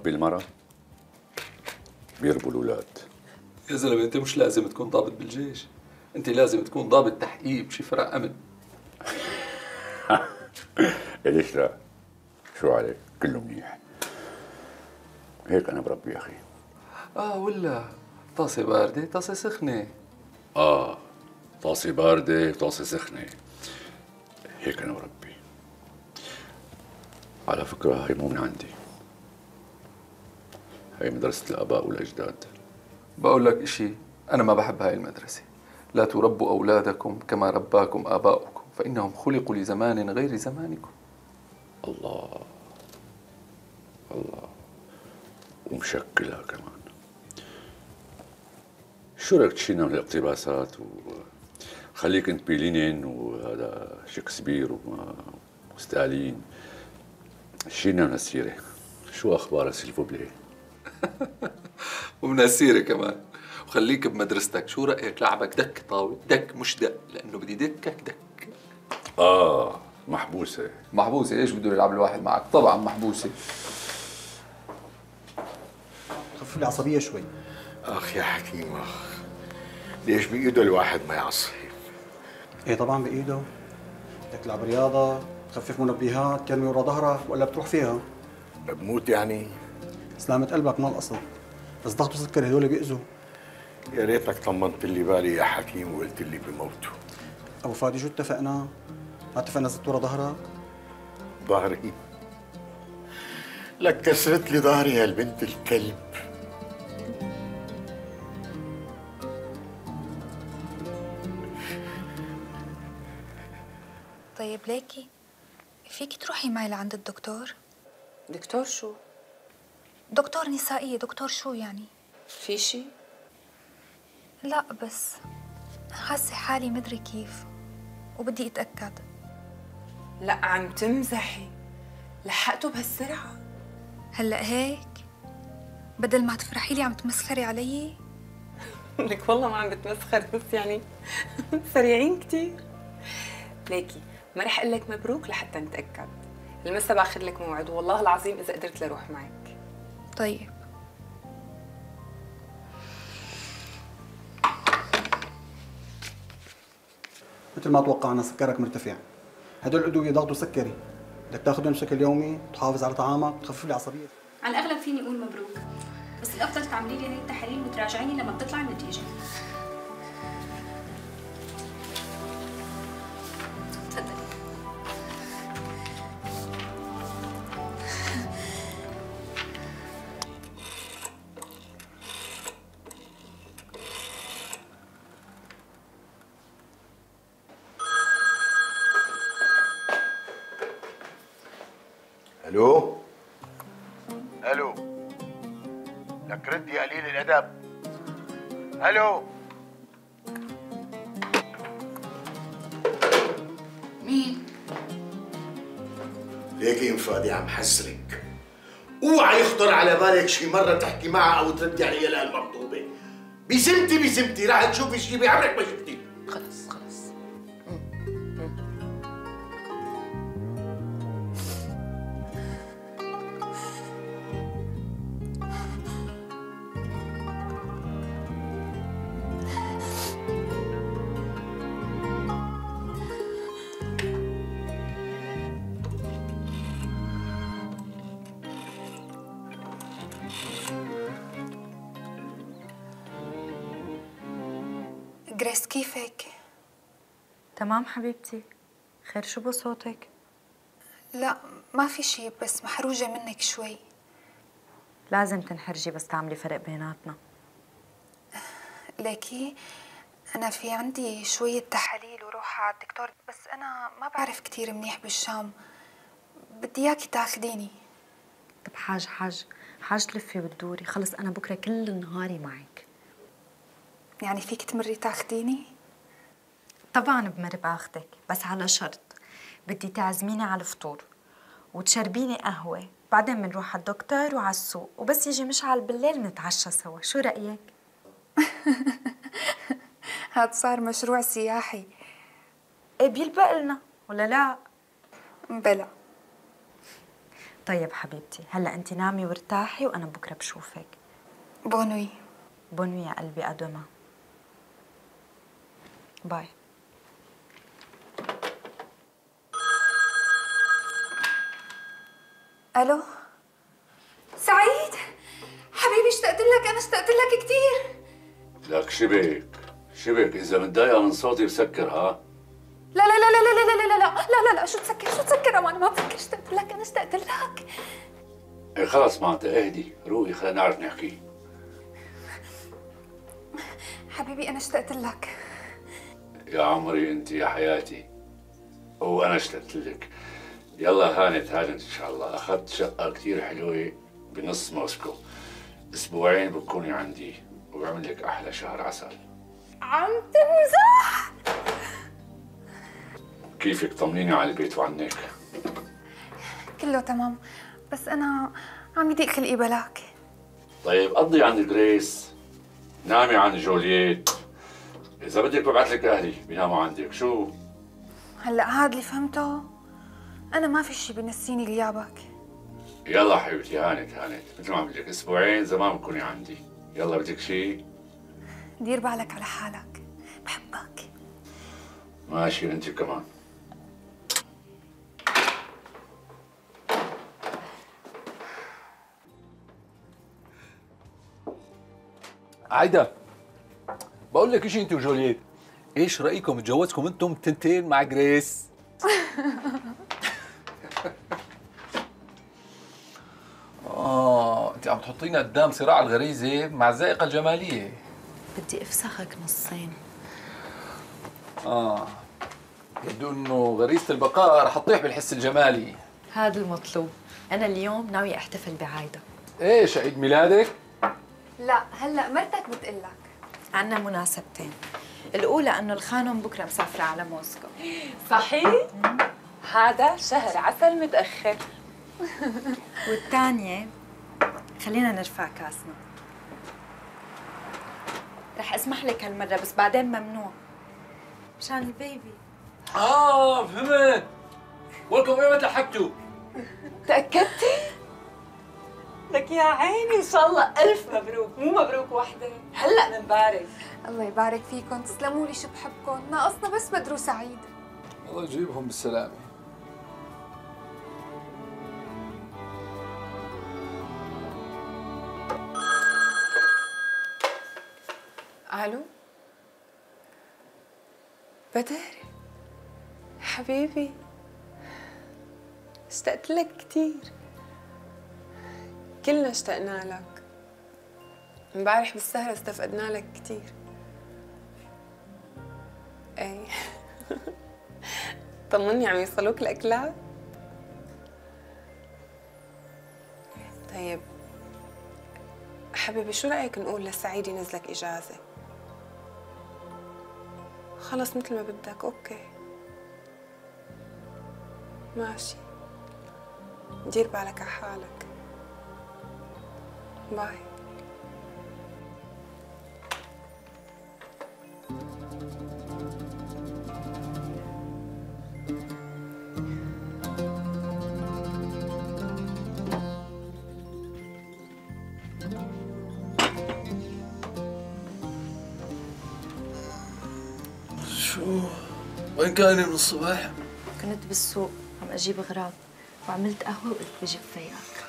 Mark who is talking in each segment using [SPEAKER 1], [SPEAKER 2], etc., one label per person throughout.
[SPEAKER 1] بيربي المرأة بيربوا الأولاد.
[SPEAKER 2] يا زلمة أنت مش لازم تكون ضابط بالجيش، أنت لازم تكون ضابط تحقيق بشي فرق أمن.
[SPEAKER 1] ليش لا؟ شو عليك؟ كله منيح. هيك أنا بربي يا أخي.
[SPEAKER 2] ولا طاسة باردة طاسة سخنة.
[SPEAKER 1] طاسة باردة طاسة سخنة. هيك أنا بربي. على فكرة هي مو من عندي، هي مدرسة الآباء والأجداد.
[SPEAKER 2] بقول لك إشي، أنا ما بحب هاي المدرسة. لا تربوا أولادكم كما رباكم آباؤكم فإنهم خلقوا لزمان غير زمانكم.
[SPEAKER 1] الله الله، ومشكلها كمان. شو رأيك تشيلنا من الاقتباسات وخليك انت بلينين وهذا شكسبير وستالين، شيلنا من السيرة. شو أخبار سيلفوبلي؟
[SPEAKER 2] ومن السيرة كمان. وخليك بمدرستك. شو رأيك لعبك دك طاولة؟ دك مش دق، لأنه بدي دكك دك.
[SPEAKER 1] محبوسة.
[SPEAKER 2] محبوسة؟ إيش بده يلعب الواحد معك؟ طبعا محبوسة.
[SPEAKER 3] خفف لي عصبية شوي.
[SPEAKER 4] اخ يا حكيم اخ، ليش بايده الواحد ما يعصب؟
[SPEAKER 3] ايه طبعا بايده. بدك تلعب رياضة، تخفف منبهات، ترمي ورا ظهرك ولا بتروح فيها؟
[SPEAKER 4] بموت يعني؟
[SPEAKER 3] سلامة قلبك من الأصل، بس ضغط وسكري هدول بيأذوا.
[SPEAKER 4] يا ريتك طمنت لي بالي يا حكيم وقلت لي بموتوا.
[SPEAKER 3] أبو فادي شو اتفقنا؟ ما اتفقنا زدت ورا ظهرك؟
[SPEAKER 4] ظهري؟ لك كسرت لي ظهري يا البنت الكلب.
[SPEAKER 5] طيب ليكي فيك تروحي معي لعند الدكتور؟
[SPEAKER 6] دكتور شو؟
[SPEAKER 5] دكتور نسائية. دكتور شو يعني؟
[SPEAKER 6] في شي؟
[SPEAKER 5] لا بس حاسة حالي مدري كيف وبدي اتأكد.
[SPEAKER 6] لا عم تمزحي، لحقته بهالسرعة؟
[SPEAKER 5] هلأ هيك؟ بدل ما تفرحي لي عم تمسخري علي؟
[SPEAKER 6] لك والله ما عم بتمسخر، بس يعني سريعين كتير. ليكي ما رح اقول لك مبروك لحتى نتأكد. المسا باخذ لك موعد والله العظيم إذا قدرت لروح معك.
[SPEAKER 5] طيب.
[SPEAKER 3] مثل ما توقعنا سكرك مرتفع. هدول الأدوية ضغط وسكري، بدك تاخذهم بشكل يومي، تحافظ على طعامك، تخفف لي عصبيتك.
[SPEAKER 7] على الأغلب فيني أقول مبروك، بس الأفضل تعملي لي هي التحاليل وتراجعيني لما بتطلع النتيجة. تفضلي.
[SPEAKER 4] الو الو، لك رد يا قليل الادب. الو
[SPEAKER 7] مين؟
[SPEAKER 4] ليكي ام فادي عم حذرك، اوعى يخطر على بالك شي مره تحكي معها او تردي عليها لهالمخطوبه. بسمتي راح تشوفي شي بعمرك ما شفتي.
[SPEAKER 6] خلص خلص.
[SPEAKER 5] جريس كيفك؟
[SPEAKER 8] تمام حبيبتي. خير شو بصوتك؟
[SPEAKER 5] لا ما في شيء، بس محروجة منك شوي.
[SPEAKER 8] لازم تنحرجي بس تعملي فرق بيناتنا.
[SPEAKER 5] ليكي أنا في عندي شوية تحاليل وروح على الدكتور، بس أنا ما بعرف كتير منيح بالشام، بدي إياكي تاخديني.
[SPEAKER 8] طب حاج تلفي وتدوري. خلص أنا بكرة كل نهاري معك.
[SPEAKER 5] يعني فيك تمري تاخديني؟
[SPEAKER 8] طبعا بمر باخدك، بس على شرط بدي تعزميني على الفطور وتشربيني قهوة، بعدين بنروح على الدكتور وعلى السوق، وبس يجي مشعل بالليل بنتعشى سوا. شو رأيك؟
[SPEAKER 5] هاد صار مشروع سياحي.
[SPEAKER 8] ايه بيلبق لنا ولا لا؟
[SPEAKER 5] بلا.
[SPEAKER 8] طيب حبيبتي، هلا انت نامي وارتاحي وانا بكره بشوفك.
[SPEAKER 5] بونوي.
[SPEAKER 8] بونوي يا قلبي، ادوما. باي.
[SPEAKER 5] الو سعيد حبيبي، اشتقت لك، انا اشتقت لك كثير.
[SPEAKER 1] لك شبك اذا متضايقه من صوتي بسكر ها.
[SPEAKER 5] لا لا لا لا لا لا لا لا لا لا لا، شو تسكر امان، ما بفكر، اشتقت لك، انا اشتقت لك.
[SPEAKER 1] ايه خلص معناتها اهدي روقي، خلينا نعرف نحكي.
[SPEAKER 5] حبيبي انا اشتقت لك.
[SPEAKER 1] يا عمري انت يا حياتي، وانا اشتقت لك. يلا هانت ان شاء الله، اخذت شقه كثير حلوه بنص موسكو، اسبوعين بتكوني عندي وبعمل لك احلى شهر عسل.
[SPEAKER 5] عم تمزح؟
[SPEAKER 1] كيفك؟ طمنيني على البيت وعنك.
[SPEAKER 5] كله تمام، بس انا عم يضيق خلقي بلاك.
[SPEAKER 1] طيب قضي عند جريس، نامي عند جولييت، اذا بدك ببعث لك اهلي بيناموا عندك. شو
[SPEAKER 5] هلا هاد اللي فهمته، انا ما في شي بنسيني غيابك.
[SPEAKER 1] يلا حبيبتي هانت مثل ما عم لك، اسبوعين زمان بتكوني عندي. يلا بدك شي؟
[SPEAKER 5] دير بالك على حالك، بحبك.
[SPEAKER 1] ماشي انت كمان.
[SPEAKER 9] عايدة، بقول لك شيء انت وجولييت، ايش رايكم اتجوزكم انتم تنتين مع جريس؟ انت عم تحطينا قدام صراع الغريزه مع الذائقه الجماليه.
[SPEAKER 8] بدي افسخك نصين.
[SPEAKER 9] يبدو انه غريزه البقاء رح تطيح بالحس الجمالي.
[SPEAKER 8] هذا المطلوب. انا اليوم ناوي احتفل بعايدة.
[SPEAKER 9] ايش عيد ميلادك؟
[SPEAKER 5] لا هلا مرتك بتقلك.
[SPEAKER 8] عنا مناسبتين، الأولى أنه الخانم بكرة مسافرة على موسكو.
[SPEAKER 6] صحيح؟ هذا شهر عسل متأخر.
[SPEAKER 8] والثانية خلينا نرفع كاسنا. رح اسمح لك هالمرة بس بعدين ممنوع مشان البيبي.
[SPEAKER 9] فهمت. ولكم ايمتى حكتوا؟
[SPEAKER 6] تأكدتي؟ لك يا عيني ان شاء الله الف مبروك، مو مبروك وحده، هلا بنبارك.
[SPEAKER 5] الله يبارك فيكم، تسلموا لي، شو بحبكم، ناقصنا بس بدر سعيد.
[SPEAKER 9] الله يجيبهم بالسلامة.
[SPEAKER 6] الو بدر حبيبي، اشتقت لك كثير، كلنا اشتقنا لك. امبارح بالسهرة استفقدنا لك كثير. اي طمني، عم يوصلوك الاكلات؟ طيب حبيبي، شو رايك نقول لسعيد ينزلك اجازه؟ خلص مثل ما بدك. اوكي ماشي، دير بالك على حالك. باي.
[SPEAKER 2] شو؟ وين كاني من الصبح؟
[SPEAKER 8] كنت بالسوق عم اجيب اغراض وعملت قهوة وقلت بجيب فياك.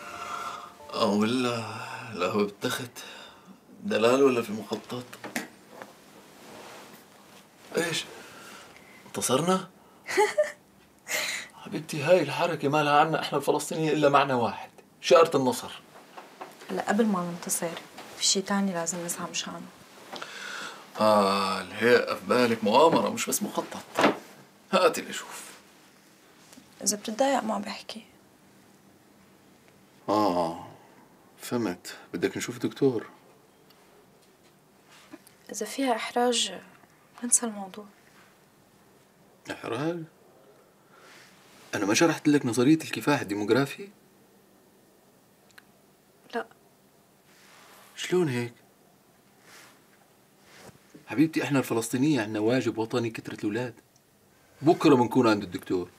[SPEAKER 2] ولا القهوة بالتخت؟ دلال ولا في المخطط؟ ايش؟ انتصرنا؟ حبيبتي هاي الحركة ما لها عنا احنا الفلسطينيين الا معنى واحد، شارة النصر.
[SPEAKER 8] هلا قبل ما ننتصر في شيء ثاني لازم نسعى مشانه.
[SPEAKER 2] الهيئة في بالك مؤامرة مش بس مخطط. هاتي لشوف.
[SPEAKER 8] إذا بتتضايق ما بحكي.
[SPEAKER 2] فهمت، بدك نشوف دكتور.
[SPEAKER 8] إذا فيها إحراج ننسى الموضوع.
[SPEAKER 2] إحراج؟ أنا ما شرحت لك نظرية الكفاح الديموغرافي؟
[SPEAKER 8] لا.
[SPEAKER 2] شلون هيك؟ حبيبتي احنا الفلسطينية عنا واجب وطني كثرة الأولاد. بكرة بنكون عند الدكتور.